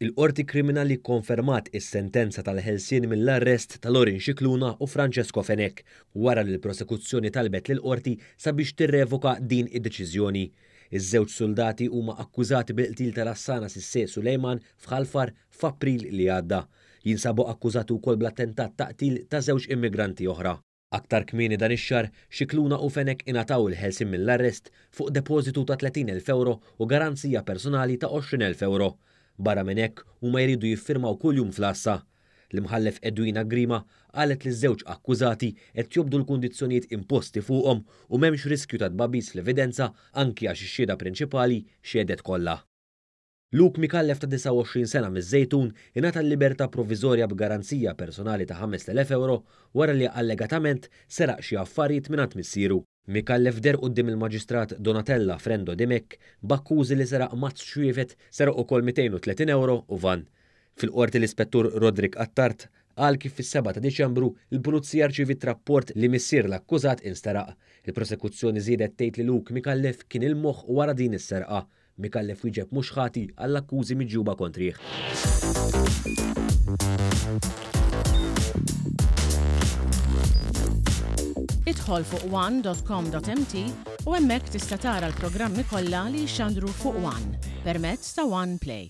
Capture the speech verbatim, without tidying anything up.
Il-Qorti Kriminali kkonfermat is-sentenza tal-ħelsien mill-arrest ta' Lorin Scicluna u Francesco Fenech wara li l-prosekuzzjoni talbet lill-Qorti sabiex tirrevoka din id-deċiżjoni. Iż-żewġ suldati huma akkużati bil-qtil ta' Lassana Cissé Sulejman f'Ħal Far f'April li għadda. Jinsabu akkużati wkoll bl-attentat ta' qtil ta' żewġ immigranti oħra. Aktar kmieni dan ix-xahar, Scicluna u Fenech ingħataw il-ħelsien mill-arrest fuq depożitu ta' tletin elf euro u garanzija personali ta' għoxrin elf euro. Barra minn hekk, huma jridu jiffirmaw kuljum fl-għassa. L-Imħallef Edwina Grima qalet li ż-żewġ akkużati qed jobdu l-kundizzjonijiet imposti fuqhom u m'hemmx riskju ta' tbagħbis fl-evidenza anki għax ix-xhieda prinċipali xehdet kollha. Luke Micallef ta' disgħa u għoxrin sena miż-Żejtun ingħata l-libertà provviżorja b'garanzija personali ta' ħamest elef euro wara li allegatament seraq xi affarijiet mingħand missieru. Micallef deher quddiem il-Maġistrat Donatella Frendo Dimech b'akkużi li seraq mazz xwiefet, seraq ukoll mitejn u tletin euro u van. Fil-qorti l-Ispettur Roderick Attard qal kif fis-sebgħa ta' Diċembru l-Pulizija rċiviet rapport li missier l-akkużat insteraq. Il-prosekuzzjoni żiedet tgħid li Luke Micallef kien il-moħħ wara din is-serqa. Micallef wieġeb mhux ħati għall-akkużi miġjuba kontrih. Idħol fuq one dot com dot m t u hemmhekk tista' tara l-programmi kollha li jixxandru fuq One permezz ta' One Play.